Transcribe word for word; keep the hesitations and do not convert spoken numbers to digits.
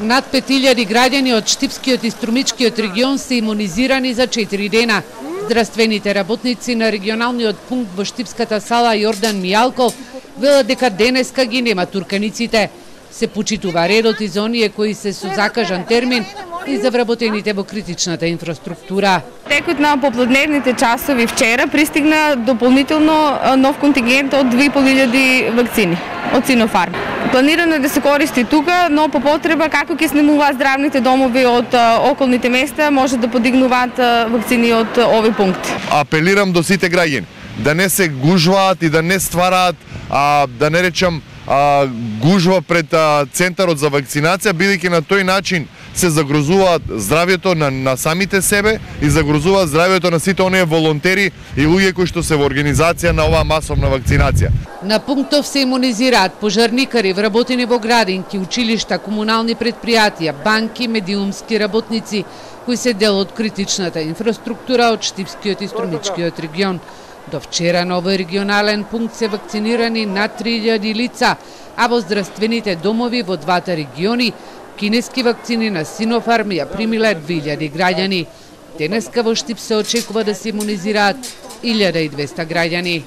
Над пет илјади граѓани од Штипскиот и Струмичкиот регион се имунизирани за четири дена. Здравствените работници на регионалниот пункт во Штипската сала Јордан Мијалков велат дека денеска ги нема турканиците. Се почитува редот и за оние кои се со закажан термин и за вработените во критичната инфраструктура. Текот на поплодневните часови вчера пристигна дополнително нов контингент од две и пол илјади вакцини од Синофарм. Планирано е да се користи тука, но по потреба како ќе снемуваат здравните домови од околните места, може да подигнуваат вакцини од овој пункт. Апелирам до сите граѓани да не се гужваат и да не ствараат, а, да не речам, а, гужва пред а, центарот за вакцинација, бидејќи на тој начин се загрозуваат здравјето на, на самите себе и загрозуваат здравјето на сите оние волонтери и луѓе кои што се во организација на оваа масовна вакцинација. На пунктов се имунизираат пожарникари, вработени во градинки, училишта, комунални предпријатија, банки, медиумски работници, кои се дел од критичната инфраструктура од Штипскиот и Струмичкиот регион. До вчера на овој регионален пункт се вакцинирани над три илјади лица, а во здравствените домови во двата региони кинески вакцини на Синофарм ја примиле две илјади граѓани. Денеска во Штип се очекува да се имунизираат илјада и двесте граѓани.